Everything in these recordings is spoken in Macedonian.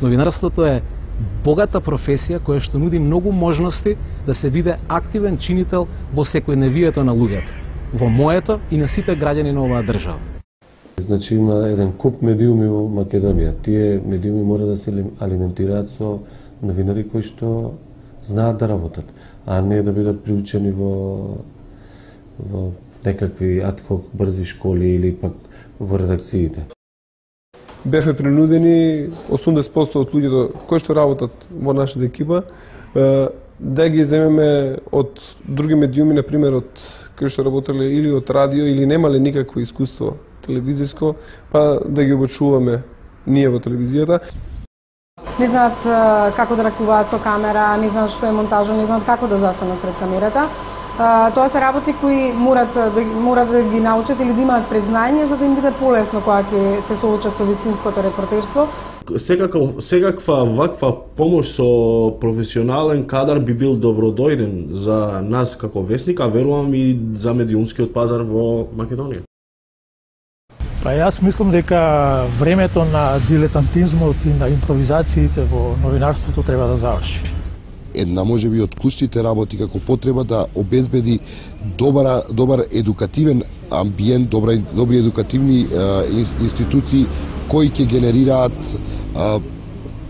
Новинарството е богата професија која што нуди многу можности да се биде активен чинител во секојдневието на луѓето, во моето и на сите граѓани на оваа држава. Значи има еден куп медиуми во Македонија. Тие медиуми мора да се алиментираат со новинари кои што знаат да работат, а не да бидат приучени во некакви адхок брзи школи или пак во редакциите. Бевме принудени 80% од луѓето кои што работат во нашата екипа да ги земеме од други медиуми, на пример од кои што работеле или од радио или немале никакво искуство телевизиско, па да ги обучуваме ние во телевизијата. Не знаат како да ракуваат со камера, не знаат што е монтажа, не знаат како да застанат пред камерата. Тоа се работи кои морат да ги научат или да имаат предзнање за да им биде полесно кога ќе се соочат со вистинското репортерство. Секаква ваква помош со професионален кадар би бил добродојден за нас како весник, а верувам и за медиумскиот пазар во Македонија. Па јас мислам дека времето на дилетантизмот и на импровизациите во новинарството треба да заврши. Една можеби од клучните работи како потреба да обезбеди добар едукативен амбиент, добри едукативни институции кои ќе генерираат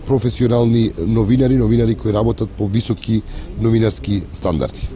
професионални новинари кои работат по високи новинарски стандарди.